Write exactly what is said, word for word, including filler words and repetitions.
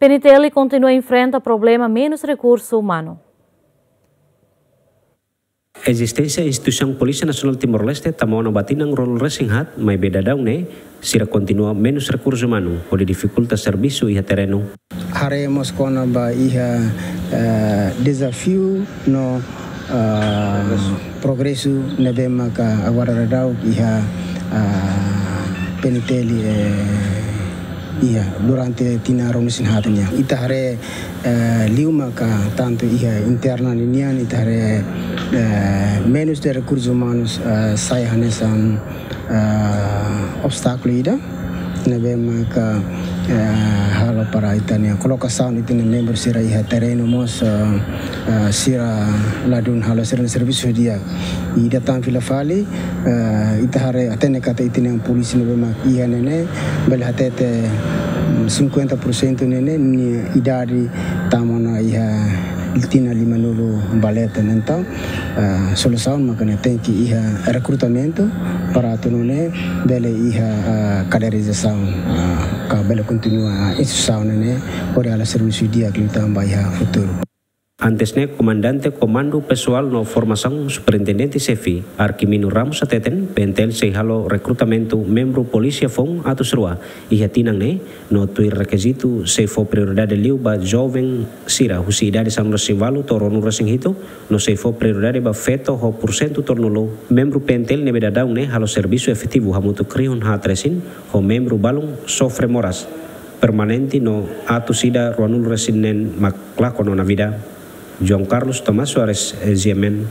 N T L kontinua enfrenta problema menus rekursu umanu. Ezisténsia instituisaun Polísia Nasionál Timor-Leste tama ona ba tinan ruanulu resin haat, maibé daudaun ne'e sira kontinua menus rekursu umanu, hodi difikulta servisu iha terrenu. Haree mós kona-ba iha, eh, dezafiu no, eh, progresu ne'ebé maka agora daudaun iha, eh, P N T L, eh, iha durante tinan ruanulu resin haat nian. Ita haree, eh, liu maka tantu iha interna ninian, ita haree, eh, menus de rekursus umanus, eh, sai hanesan, eh, obstákulu ida ne'ebé maka, eh, halo para ita-nia kolokasaun ita-nia membru sira iha terrenu mós, eh, eh, sira ladún halo sira-nia servisu di'ak. Ida tan fila fali, eh, ita haree hatene katak ita-nia polísia ne'ebé mak iha ne'e ne'e, bele hatete, mm, cinquenta por cento ne'e ne'e nia idade tama ona iha tinan limanulu ba leten. Entaun, eh, solusaun maka ne'e tenke iha rekrutamentu para atu nune'e bele iha, eh, kaderizasaun, eh, ka bele kontinua instituisaun ne'e ne'e hodi halo servisu di'ak liután ba iha futuru. Antes ne'e, Komandante Komandu Pesoál no Formasaun Superintendente Xefe, Arquimino Ramos hateten, P N T L sei halo rekrutamentu membru polísia foun atus rua iha tinan ne'e, no tuir rekizitu sei fó prioridade liu ba joven sira husi idade sanulu resin ualu to'o ruanulu resin hitu, no sei fó prioridade ba feto ho porsentu tolunulu membru P N T L ne'ebé daudaun ne'e halo servisu efetivu hamutuk rihun haat resin, ho membru balun sofre moras permanente no atus ida ruanulu resin neen mak lakon ona vida. João Carlos Tomás Soares, G M N,